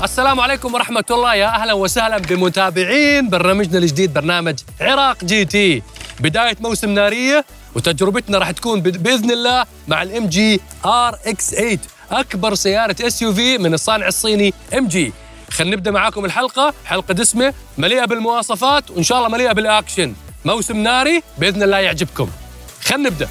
السلام عليكم ورحمة الله، يا أهلا وسهلا بمتابعين برنامجنا الجديد برنامج عراق جي تي. بداية موسم نارية وتجربتنا راح تكون بإذن الله مع الام جي RX8 أكبر سيارة SUV من الصانع الصيني MG. خلينا نبدأ معاكم الحلقة، حلقة دسمة مليئة بالمواصفات وإن شاء الله مليئة بالأكشن. موسم ناري بإذن الله يعجبكم. خلينا نبدأ.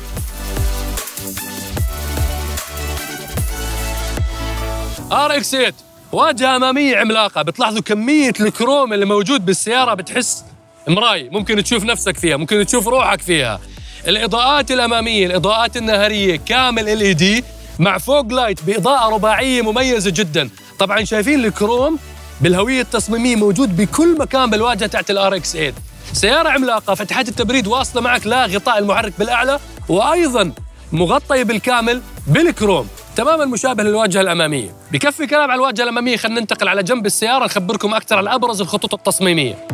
RX8 واجهة أمامية عملاقة، بتلاحظوا كمية الكروم اللي موجود بالسيارة، بتحس مراي، ممكن تشوف نفسك فيها، ممكن تشوف روحك فيها. الإضاءات الأمامية، الإضاءات النهارية كامل LED مع فوق لايت بإضاءة رباعية مميزة جدا. طبعا شايفين الكروم بالهوية التصميمية موجود بكل مكان بالواجهة تحت RX8. سيارة عملاقة، فتحات التبريد واصلة معك لغطاء المحرك بالأعلى، وأيضا مغطية بالكامل بالكروم تماما مشابه للواجهة الأمامية. بكفي كلام على الواجهة الأمامية، خلينا ننتقل على جنب السيارة نخبركم أكثر عن أبرز الخطوط التصميمية.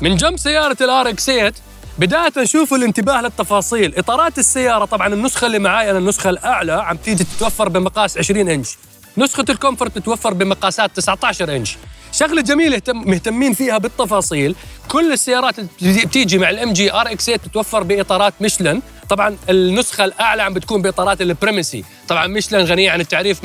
من جنب سيارة RX8 بداية نشوفوا الانتباه للتفاصيل. إطارات السيارة طبعا النسخة اللي معاي أنا النسخة الأعلى عم تيجي تتوفر بمقاس 20 إنش، نسخة الكومفورت بتتوفر بمقاسات 19 إنش. شغلة جميلة مهتمين فيها بالتفاصيل. كل السيارات اللي بتيجي مع الام جي RX8 بتتوفر باطارات ميشلان. طبعا النسخة الأعلى عم بتكون باطارات البريمسي. طبعا ميشلان غنية عن التعريف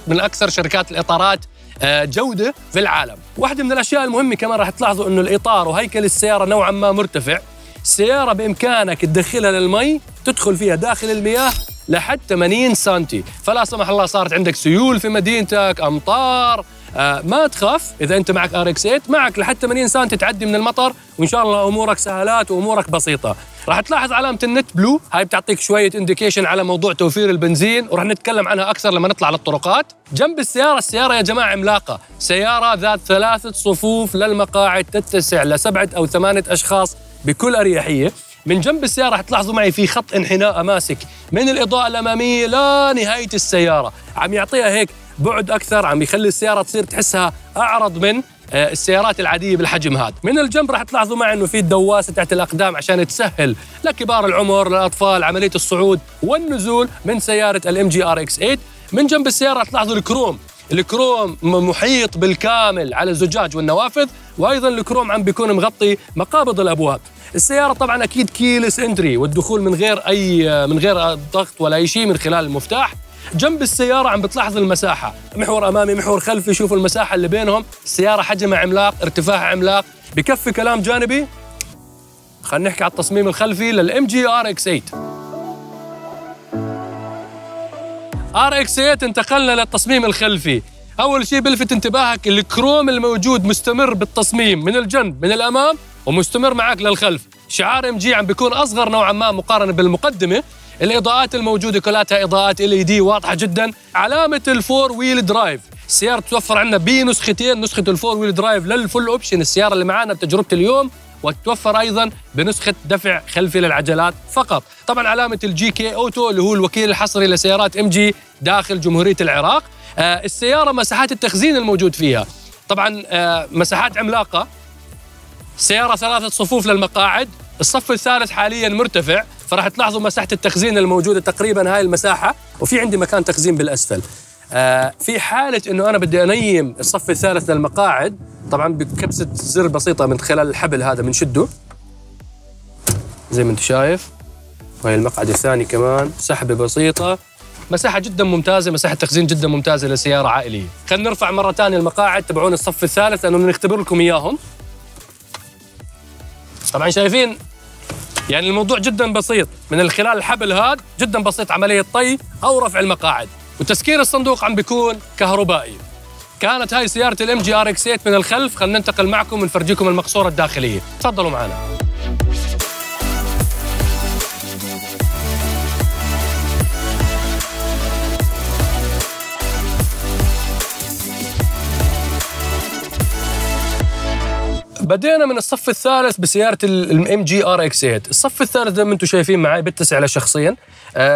من أكثر شركات الإطارات جودة في العالم. واحدة من الأشياء المهمة كمان راح تلاحظوا إنه الإطار وهيكل السيارة نوعا ما مرتفع. السيارة بإمكانك تدخلها للمي، تدخل فيها داخل المياه لحد 80 سنتي، فلا سمح الله صارت عندك سيول في مدينتك، أمطار، ما تخاف. إذا أنت معك RX8 معك لحد 80 سنتي تعدي من المطر، وإن شاء الله أمورك سهلات وأمورك بسيطة. راح تلاحظ علامة النت بلو، هاي بتعطيك شوية إنديكيشن على موضوع توفير البنزين، وراح نتكلم عنها أكثر لما نطلع للطرقات. جنب السيارة يا جماعة عملاقة، سيارة ذات 3 صفوف للمقاعد تتسع ل7 أو 8 أشخاص بكل أريحية. من جنب السيارة راح تلاحظوا معي في خط انحناء ماسك من الإضاءة الأمامية لنهاية السيارة، عم يعطيها هيك بعد أكثر، عم يخلي السيارة تصير تحسها أعرض من السيارات العادية بالحجم هذا. من الجنب راح تلاحظوا معي إنه في دواسة تحت الأقدام عشان تسهل لكبار العمر للأطفال عملية الصعود والنزول من سيارة الام جي RX8. من جنب السيارة راح تلاحظوا الكروم محيط بالكامل على الزجاج والنوافذ، وأيضا الكروم عم بيكون مغطي مقابض الأبواب. السيارة طبعا أكيد كيلس انتري، والدخول من غير ضغط ولا أي شيء من خلال المفتاح. جنب السيارة عم بتلاحظ المساحة، محور أمامي محور خلفي، شوفوا المساحة اللي بينهم. السيارة حجمها عملاق، ارتفاعها عملاق. بكفي كلام جانبي، خلينا نحكي على التصميم الخلفي للام جي RX8. RX8 انتقلنا للتصميم الخلفي. أول شيء بلفت انتباهك الكروم الموجود مستمر بالتصميم من الجنب من الأمام ومستمر معك للخلف. شعار ام جي عم بيكون أصغر نوعا ما مقارنة بالمقدمة. الإضاءات الموجودة كلها إضاءات LED واضحة جدا. علامة الفور ويل درايف، السيارة تتوفر عندنا بنسختين، نسخة الفور ويل درايف للفول أوبشن السيارة اللي معانا بتجربة اليوم، وتتوفر أيضا بنسخة دفع خلفي للعجلات فقط. طبعا علامة الGK أوتو اللي هو الوكيل الحصري لسيارات ام جي داخل جمهورية العراق. السيارة مساحات التخزين الموجود فيها طبعا مساحات عملاقة. السيارة 3 صفوف للمقاعد، الصف الثالث حاليا مرتفع، فراح تلاحظوا مساحة التخزين الموجودة تقريبا هاي المساحة، وفي عندي مكان تخزين بالأسفل. في حالة إنه أنا بدي أنيم الصف الثالث للمقاعد، طبعا بكبسة زر بسيطة من خلال الحبل هذا بنشده زي ما أنت شايف، وهي المقعد الثاني كمان سحبة بسيطة. مساحة جدا ممتازة، مساحة تخزين جدا ممتازة لسيارة عائلية. خلينا نرفع مرة ثانية المقاعد تبعون الصف الثالث لأنه بنختبر لكم إياهم. طبعا شايفين يعني الموضوع جدا بسيط، من خلال الحبل هذا جدا بسيط عملية طي أو رفع المقاعد، وتسكير الصندوق عم بيكون كهربائي. كانت هاي سيارة الام جي RX8 من الخلف. خلينا ننتقل معكم ونفرجيكم المقصورة الداخلية. تفضلوا معنا. بدينا من الصف الثالث بسيارة الام جي ار اكس 8. الصف الثالث زي ما انتم شايفين معي بيتسع لشخصين.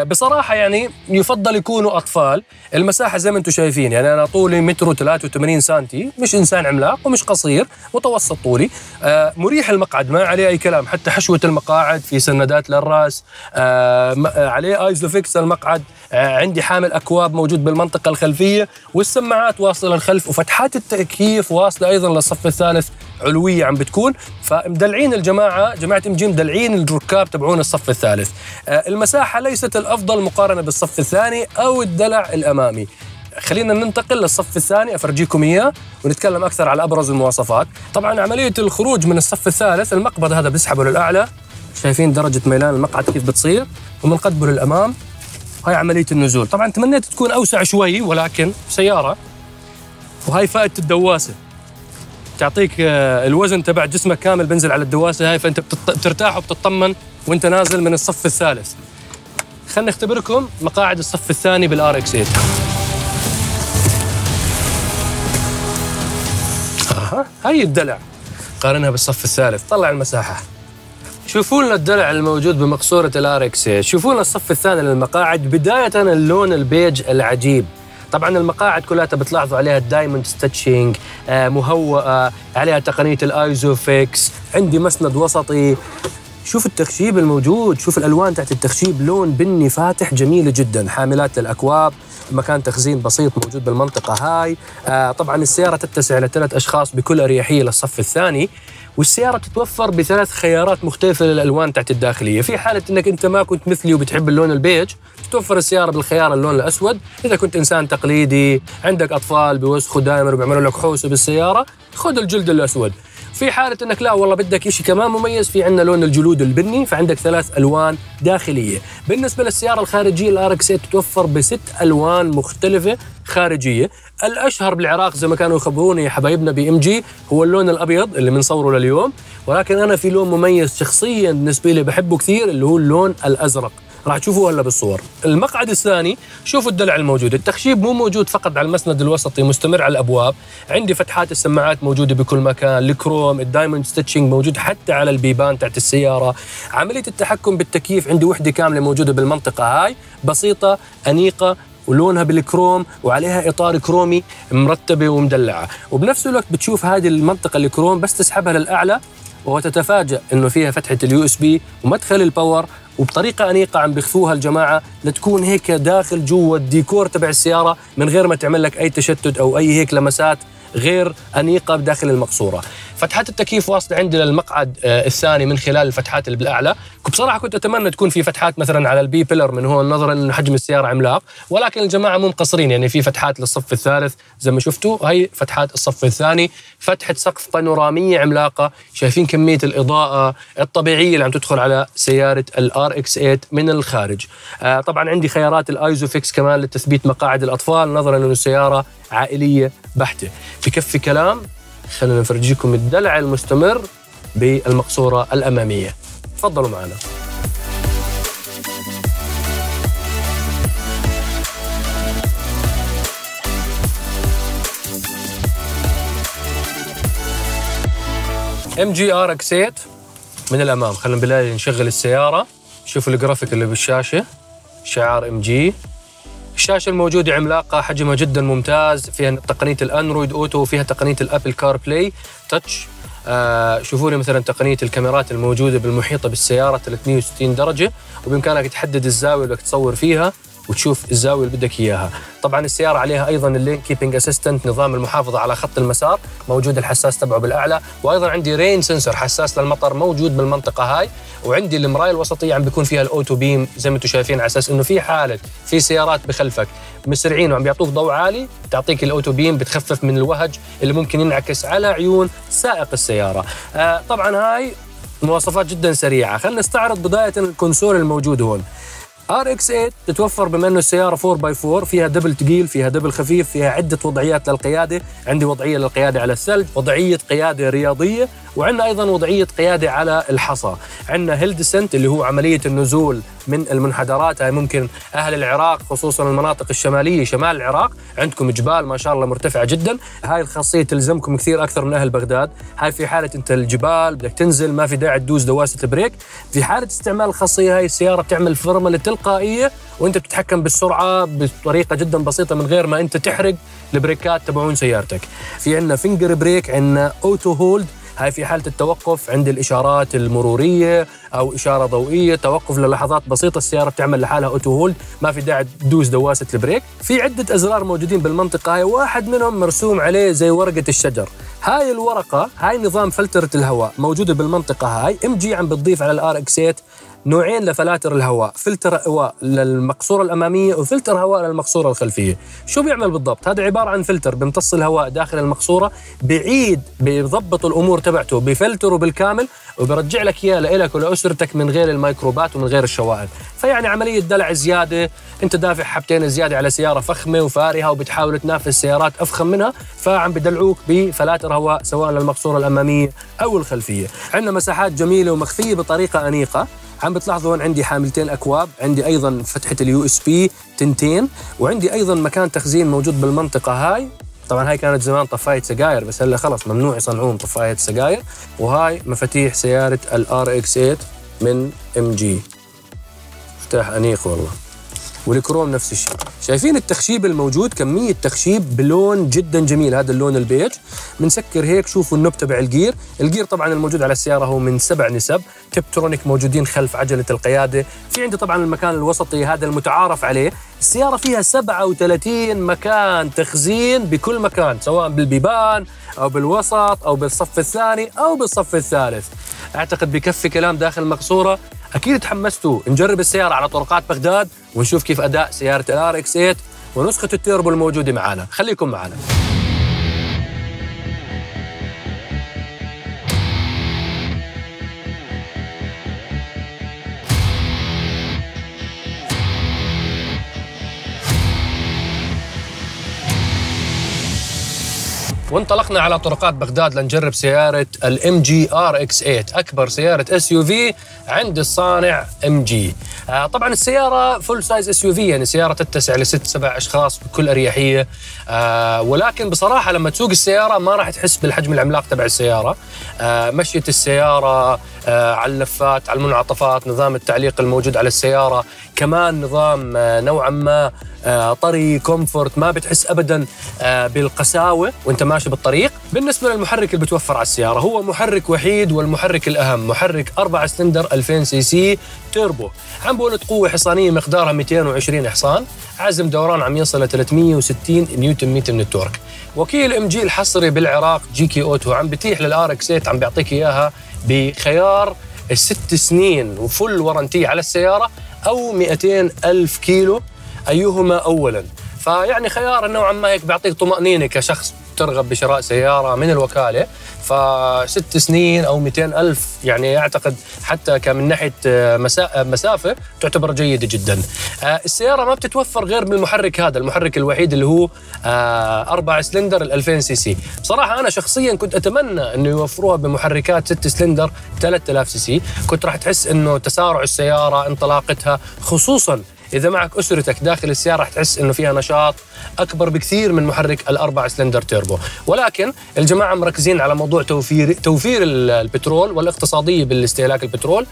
بصراحة يعني يفضل يكونوا أطفال. المساحة زي ما انتم شايفين، يعني أنا طولي 1.83 سنتي، مش إنسان عملاق ومش قصير، متوسط طولي. مريح المقعد، ما عليه أي كلام، حتى حشوة المقاعد في سندات للرأس، عليه ايزوفيكس المقعد. عندي حامل أكواب موجود بالمنطقة الخلفية، والسماعات واصلة للخلف، وفتحات التكييف واصلة أيضا للصف الثالث علوية عم بتكون. فمدلعين جماعة ام جي، مدلعين الركاب تبعون الصف الثالث. المساحة ليست الأفضل مقارنة بالصف الثاني أو الدلع الأمامي. خلينا ننتقل للصف الثاني أفرجيكم إياه ونتكلم أكثر على أبرز المواصفات. طبعا عملية الخروج من الصف الثالث، المقبض هذا بيسحبه للأعلى، شايفين درجة ميلان المقعد كيف بتصير، ومنقدبه للأمام. هاي عملية النزول. طبعا تمنيت تكون أوسع شوي، ولكن سيارة. وهاي فائدة الدواسة، تعطيك الوزن تبع جسمك كامل بنزل على الدواسة هاي، فأنت بترتاح وبتطمن وأنت نازل من الصف الثالث. خلنا نختبركم مقاعد الصف الثاني بالار اكس 8. هاي الدلع، قارنها بالصف الثالث، طلع المساحة. شوفوا لنا الدلع الموجود بمقصورة الار اكس 8. شوفوا لنا الصف الثاني للمقاعد. بداية اللون البيج العجيب. طبعا المقاعد كلها بتلاحظوا عليها الدايموند ستيتشنج، مهوئة، عليها تقنية الايزوفيكس، عندي مسند وسطي. شوف التخشيب الموجود، شوف الالوان تحت التخشيب، لون بني فاتح جميل جدا. حاملات للاكواب، مكان تخزين بسيط موجود بالمنطقة هاي. طبعا السيارة تتسع ل3 أشخاص بكل أريحية للصف الثاني. والسيارة تتوفر ب3 خيارات مختلفة للألوان تحت الداخلية. في حالة أنك أنت ما كنت مثلي وبتحب اللون البيج، تتوفر السيارة بالخيار اللون الأسود. إذا كنت إنسان تقليدي عندك أطفال بيوسخوا دائما وبيعملوا لك حوسة بالسيارة، خذ الجلد الأسود. في حالة أنك لا والله بدك إشي كمان مميز، في عندنا لون الجلود البني، فعندك 3 ألوان داخلية. بالنسبة للسيارة الخارجية الار اكس 8 تتوفر ب6 ألوان مختلفة خارجية. الأشهر بالعراق زي ما كانوا يخبروني حبايبنا بام جي هو اللون الأبيض اللي بنصوره لليوم، ولكن أنا في لون مميز شخصيا بالنسبة لي بحبه كثير، اللي هو اللون الأزرق. راح تشوفوه هلا بالصور. المقعد الثاني، شوفوا الدلع الموجود. التخشيب مو موجود فقط على المسند الوسطي، مستمر على الابواب. عندي فتحات السماعات موجوده بكل مكان، الكروم، الدايموند ستيتشنج موجود حتى على البيبان تحت السياره. عمليه التحكم بالتكييف عندي وحده كامله موجوده بالمنطقه هاي، بسيطه انيقه ولونها بالكروم وعليها اطار كرومي مرتبه ومدلعه. وبنفس الوقت بتشوف هذه المنطقه الكروم بس تسحبها للاعلى وتتفاجأ انه فيها فتحه اليو اس بي ومدخل الباور، وبطريقة أنيقة عم بيخفوها الجماعة لتكون هيك داخل جوا الديكور تبع السيارة، من غير ما تعمل لك أي تشتت أو أي هيك لمسات غير أنيقة بداخل المقصورة. فتحات التكييف واصلة عندي للمقعد الثاني من خلال الفتحات اللي بالأعلى. بصراحة كنت أتمنى تكون في فتحات مثلا على البي بيلر من هون، نظرا إنه حجم السيارة عملاق، ولكن الجماعة مو مقصرين، يعني في فتحات للصف الثالث زي ما شفتوا، هي فتحات الصف الثاني. فتحة سقف بانورامية عملاقة، شايفين كمية الإضاءة الطبيعية اللي عم تدخل على سيارة الار اكس 8 من الخارج. طبعا عندي خيارات الايزوفيكس كمان لتثبيت مقاعد الأطفال، نظرا إنه سيارة عائلية بحتة. بكفي كلام، خلينا نفرجيكم الدلع المستمر بالمقصورة الأمامية. تفضلوا معنا. ام جي ار اكس 8 من الأمام. خلينا بالله نشغل السيارة، شوفوا الجرافيك اللي بالشاشة، شعار ام جي. الشاشة الموجودة عملاقة، حجمها جدا ممتاز، فيها تقنية الأندرويد أوتو وفيها تقنية الأبل كار بلاي تاتش. شوفوا لي مثلا تقنية الكاميرات الموجودة بالمحيطة بالسيارة 360 درجة، وبإمكانك تحدد الزاوية اللي بدك تصور فيها وتشوف الزاوية اللي بدك إياها. طبعا السيارة عليها أيضا اللين كيبنج أسيستنت، نظام المحافظة على خط المسار، موجود الحساس تبعه بالأعلى، وأيضا عندي رين سنسور حساس للمطر موجود بالمنطقة هاي، وعندي المراية الوسطية عم بيكون فيها الأوتو بيم زي ما أنتم شايفين، على أساس إنه في حالة في سيارات بخلفك مسرعين وعم بيعطوك ضوء عالي، تعطيك الأوتو بيم بتخفف من الوهج اللي ممكن ينعكس على عيون سائق السيارة. طبعا هاي مواصفات جدا سريعة. خلينا نستعرض بداية الكونسول الموجود هون. ار اكس 8 تتوفر بما انه السياره 4x4، فيها دبل ثقيل، فيها دبل خفيف، فيها عده وضعيات للقياده. عندي وضعيه للقياده على الثلج، وضعيه قياده رياضيه، وعندنا ايضا وضعيه قياده على الحصى. عندنا هيل ديسنت اللي هو عمليه النزول من المنحدرات. هاي ممكن اهل العراق خصوصا المناطق الشماليه شمال العراق عندكم جبال ما شاء الله مرتفعه جدا، هاي الخاصيه تلزمكم كثير اكثر من اهل بغداد. هاي في حاله انت الجبال بدك تنزل ما في داعي تدوس دواسه البريك. في حاله استعمال الخاصيه هاي السياره بتعمل فرمله تلقائيه وانت بتتحكم بالسرعه بطريقه جدا بسيطه من غير ما انت تحرق البريكات تبعون سيارتك. في عندنا فينجر بريك، عندنا اوتو هولد، هاي في حالة التوقف عند الإشارات المرورية أو إشارة ضوئية، توقف للحظات بسيطة السيارة بتعمل لحالها أوتو هولد، ما في داعي تدوس دواسة البريك. في عدة أزرار موجودين بالمنطقة هاي، واحد منهم مرسوم عليه زي ورقة الشجر. هاي الورقة هاي نظام فلترة الهواء موجودة بالمنطقة هاي. MG عم بتضيف على الRX-8 نوعين لفلاتر الهواء، فلتر هواء للمقصورة الأمامية وفلتر هواء للمقصورة الخلفية. شو بيعمل بالضبط؟ هذا عبارة عن فلتر بيمتص الهواء داخل المقصورة، بعيد بيضبط الأمور تبعته بفلتره بالكامل وبرجع لك إياه لإلك ولأسرتك من غير الميكروبات ومن غير الشوائب. فيعني عملية دلع زيادة، أنت دافع حبتين زيادة على سيارة فخمة وفارهة وبتحاول تنافس سيارات أفخم منها، فعم بدلعوك بفلاتر هواء سواء للمقصورة الأمامية أو الخلفية. عندنا مساحات جميلة ومخفية بطريقة أنيقة. عم بتلاحظوا هون عندي حاملتين أكواب، عندي أيضا فتحة USB تنتين، وعندي أيضا مكان تخزين موجود بالمنطقة هاي. طبعا هاي كانت زمان طفاية سجاير بس هلا خلص ممنوع يصنعون طفاية سجاير. وهاي مفاتيح سيارة الRX-8 من MG، مفتاح أنيق والله، والكروم نفس الشيء. شايفين التخشيب الموجود؟ كمية تخشيب بلون جدا جميل، هذا اللون البيج. بنسكر هيك شوفوا النوب تبع الجير. الجير طبعا الموجود على السيارة هو من 7 نسب تبترونيك موجودين خلف عجلة القيادة. في عندي طبعا المكان الوسطي هذا المتعارف عليه. السيارة فيها 37 مكان تخزين بكل مكان، سواء بالبيبان أو بالوسط أو بالصف الثاني أو بالصف الثالث. أعتقد بكفي كلام داخل المقصورة. أكيد تحمستوا نجرب السيارة على طرقات بغداد ونشوف كيف أداء سيارة الRX-8 ونسخة التيربو الموجودة معنا. خليكم معنا. وانطلقنا على طرقات بغداد لنجرب سيارة MG RX-8، أكبر سيارة SUV عند الصانع MG. طبعا السيارة فول سايز SUV، يعني سيارة تتسع ل6-7 أشخاص بكل أريحية. ولكن بصراحة لما تسوق السيارة ما راح تحس بالحجم العملاق تبع السيارة. مشية السيارة على اللفات، على المنعطفات، نظام التعليق الموجود على السيارة، كمان نظام نوعا ما طري كومفورت، ما بتحس أبدا بالقساوة وانت ماشي بالطريق. بالنسبة للمحرك اللي بتوفر على السيارة، هو محرك وحيد والمحرك الأهم، محرك 4 سلندر 2000 سي سي تيربو، عم بولد قوة حصانية مقدارها 220 حصان، عزم دوران عم يصل ل 360 نيوتن متر من التورك. وكيل MG الحصري بالعراق GK أوتو عم بتيح للRX-8 عم بيعطيك إياها بخيار 6 سنين وفل ورنتي على السيارة أو 200,000 كيلو أيهما أولاً. فيعني خيار نوعاً ما هيك بيعطيك طمأنينة كشخص ترغب بشراء سيارة من الوكالة. ف6 سنين أو 200,000 يعني أعتقد حتى كمن ناحية مسافة تعتبر جيدة جدا. السيارة ما بتتوفر غير بالمحرك هذا، المحرك الوحيد اللي هو 4 سلندر 2000 سي سي. بصراحة أنا شخصيا كنت أتمنى أنه يوفروها بمحركات 6 سلندر 3000 سي سي. كنت راح تحس أنه تسارع السيارة، انطلاقتها، خصوصا إذا معك أسرتك داخل السيارة رح تحس إنه فيها نشاط أكبر بكثير من محرك ال4 سلندر تيربو. ولكن الجماعة مركزين على موضوع توفير البترول والاقتصادية بالاستهلاك البترول.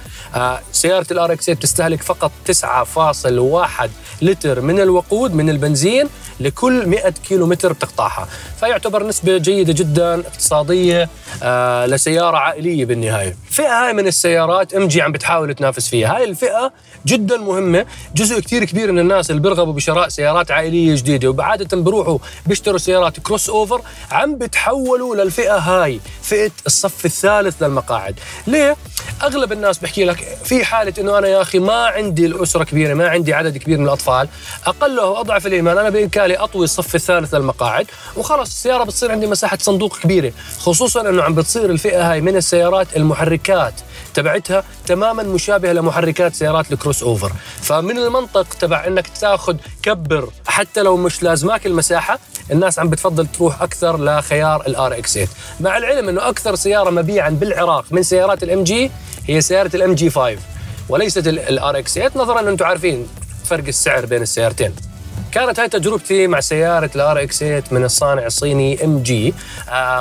سيارة الRX-8 تستهلك فقط 9.1 لتر من الوقود من البنزين لكل 100 كيلومتر بتقطعها، فيعتبر نسبة جيدة جدا اقتصادية لسيارة عائلية بالنهاية. فئة هاي من السيارات MG عم بتحاول تنافس فيها. هاي الفئة جدا مهمة، جزء كتير كبير من الناس اللي بيرغبوا بشراء سيارات عائلية جديدة وبعادة بيروحوا بيشتروا سيارات كروس اوفر عم بتحولوا للفئة هاي، فئة الصف الثالث للمقاعد. ليه؟ أغلب الناس بحكي لك في حالة إنه أنا يا أخي ما عندي الأسرة كبيرة، ما عندي عدد كبير من الأطفال، أقله وأضعف الإيمان أنا بإمكاني أطوي الصف الثالث للمقاعد وخلص السيارة بتصير عندي مساحة صندوق كبيرة. خصوصا إنه عم بتصير الفئة هاي من السيارات المحركات تبعتها تماما مشابهة لمحركات سيارات الكروس اوفر، فمن المنطق تبع انك تاخذ كبر حتى لو مش لازماك المساحة الناس عم بتفضل تروح اكثر لخيار الار اكس 8، مع العلم انه اكثر سياره مبيعا بالعراق من سيارات الام جي هي سياره الام جي 5 وليست الار اكس 8، نظرا ان انتم عارفين فرق السعر بين السيارتين. كانت هاي تجربتي مع سيارة الار اكس 8 من الصانع الصيني ام جي.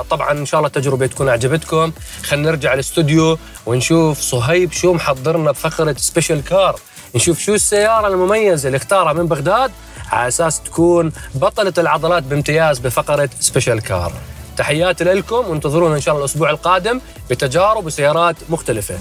طبعا ان شاء الله التجربة تكون عجبتكم. خلينا نرجع الاستوديو ونشوف صهيب شو محضرنا بفقرة سبيشال كار، نشوف شو السيارة المميزة اللي اختارها من بغداد على اساس تكون بطلة العضلات بامتياز بفقرة سبيشال كار. تحياتي لكم وانتظرونا ان شاء الله الاسبوع القادم بتجارب وسيارات مختلفة.